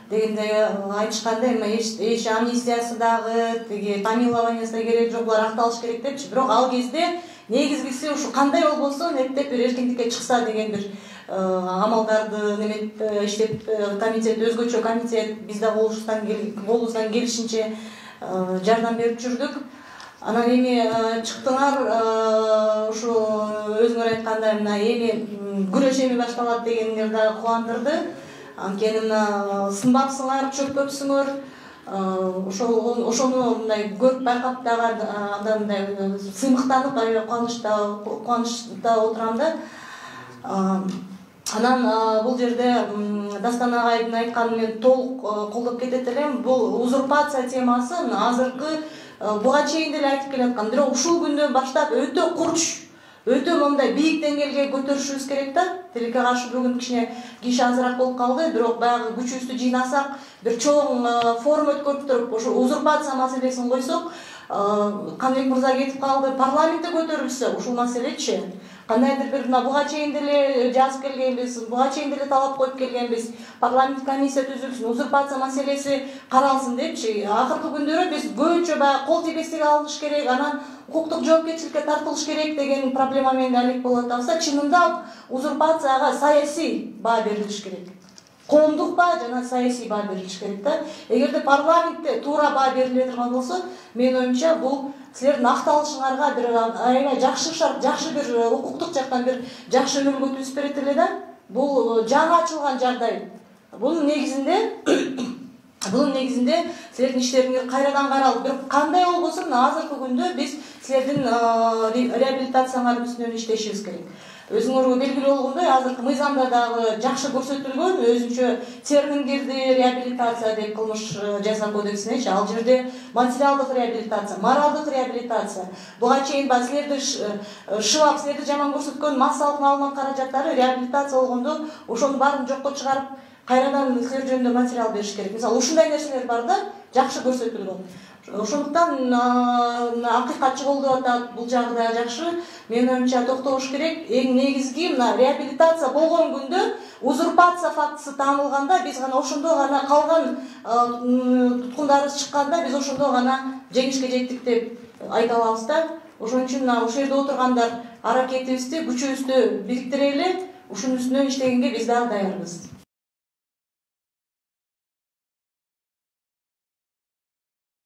дегенде айтышканда эми эч амнистиясы дагы тиги помилованиясы да керек жок, булар акталыш керек депчи. Бирок ал кезде негизгиси ушу кандай болбосун эптеп бир эркиндикке чыкса деген бир амалдарды неметип иштеп, комитет өзгөчө комитет биз да колубуздан келишинче жардам берип жүрдүк. Анан эми чыктыңар, ушу өзүңөр айткандай мына эми күрөш эми башталат дегениңер дагы кубандырды. Анткени мына сынбапсыңар, чөкпөпсүңөр. Ошону мындай көрүп байкап дагы андан мындай сыймыктанып, аябай кубанычта отурам да. Анан бул жерде Дастан агайдын айтканын мен толук колдоп кетет элем. Бул узурпация темасы азыркы буга чейин деле айтып келаткан. Бирок ушул күндөн баштап өтө курч, өтө мындай бийик деңгээлге көтөрүшүбүз керек да. Тилекке каршы бүгүн киши азыраак болуп калды, бирок баягы күчүбүздү жыйнасак, бир чоң форум өткөрүп туруп, ошо узурпация маселесин койсок, Каныбек мырза кетип калды, парламентте көтөрүлсө ушул маселечи, кандайдыр бир буга чейин деле жазып келгенбиз, буга чейин деле талап коюп келгенбиз, парламент комиссия түзүлсүн, узурпация маселеси каралсын депчи. Акыркы күндөрү биз көбүнчө баягы кол тепестиге алыныш керек, анан укуктук жоопкерчиликке тартылыш керек деген проблема менен алек болуп атабыз. Чынында узурпацияга саясий баа берилиш керек. Коомдук баа жана саясий баа берилиш керек да. Эгерде парламентте туура баа бериле турган болсо, менин оюмча бул силердин акталышыңарга бир аябай жакшы бир укуктук жактан бир жакшы үлгү түзүп берет эле да. Бул жаңы ачылган жагдай. Бунун негизинде силердин иштериңер кайрадан каралып, бирок кандай болбосун азыркы күндө биз силердин реабилитацияңардын үстүнөн иштешибиз керек. Өзүңөргө белгилүү болгондой, азыркы мыйзамда дагы жакшы көрсөтүлгөн, өзүнчө термин кирди, реабилитация деп кылмыш жаза кодексинечи. Ал жерде материалдык реабилитация, моралдык реабилитация. Буга чейин силерди шыбап, силерди жаман көрсөткөн массалык маалымат каражаттары реабилитация болгондо ошонун баарын жокко чыгарып, кайрадан силер жөнүндө материал бериш керек. Мисалы, ушундай нерселер бар да, жакшы көрсөтүлгөн. Ошондуктан акыйкатчы болду деп атат, бул жагы да жакшы. Менин оюмча токтобош керек. Эң негизги мына реабилитация болгон күндө, узурпация фактысы таанылганда, биз гана ошондо гана калган туткундарыбыз чыкканда, биз ошондо гана жеңишке жеттик деп айта алабыз да. Ошон үчүн ушул жерде отургандар аракетибизди, күчүбүздү бириктирели, ушунун үстүнөн иштегенге биз дагы даярбыз.